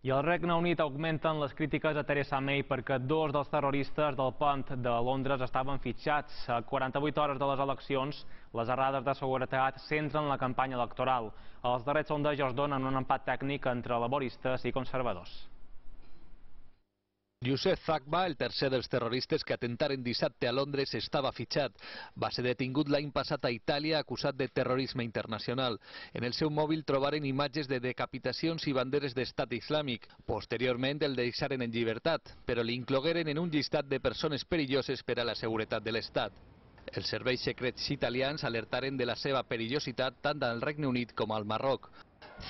I al Regne Unit augmenten les crítiques a Theresa May perquè dos dels terroristes del pont de Londres estaven fitxats. A 48 hores de les eleccions, les errades de seguretat centren la campanya electoral. Els darrers sondejos donen un empat tècnic entre laboristes i conservadors. Youssef Zagba, el tercer dels terroristes que atentaren dissabte a Londres, estava fitxat. Va ser detingut l'any passat a Itàlia acusat de terrorisme internacional. En el seu mòbil trobaren imatges de decapitacions i banderes d'estat islàmic. Posteriorment el deixaren en llibertat, però l'inclogueren en un llistat de persones perilloses per a la seguretat de l'Estat. Els serveis secrets italians alertaren de la seva perillositat tant al Regne Unit com al Marroc.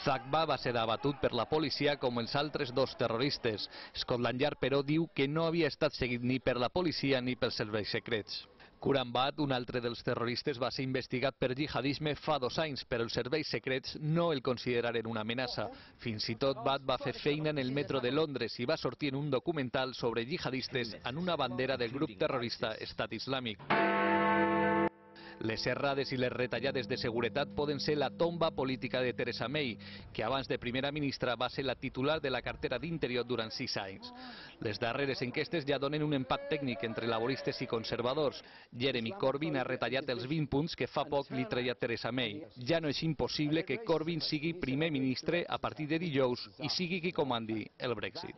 Zagba va ser abatut per la policia com els altres dos terroristes. Scotland Yard, però, diu que no havia estat seguit ni per la policia ni pels serveis secrets. Quram Butt, un altre dels terroristes, va ser investigat per jihadisme fa 2 anys, però els serveis secrets no el consideraren una amenaça. Fins i tot Butt va fer feina en el metro de Londres i va sortir en un documental sobre jihadistes en una bandera del grup terrorista Estat Islàmic. Les errades i les retallades de seguretat poden ser la tomba política de Theresa May, que abans de primera ministra va ser la titular de la cartera d'Interior durant 6 anys. Les darreres enquestes ja donen un empat tècnic entre laboristes i conservadors. Jeremy Corbyn ha retallat els 20 punts que fa poc li treia Theresa May. Ja no és impossible que Corbyn sigui primer ministre a partir de dijous i sigui qui comandi el Brexit.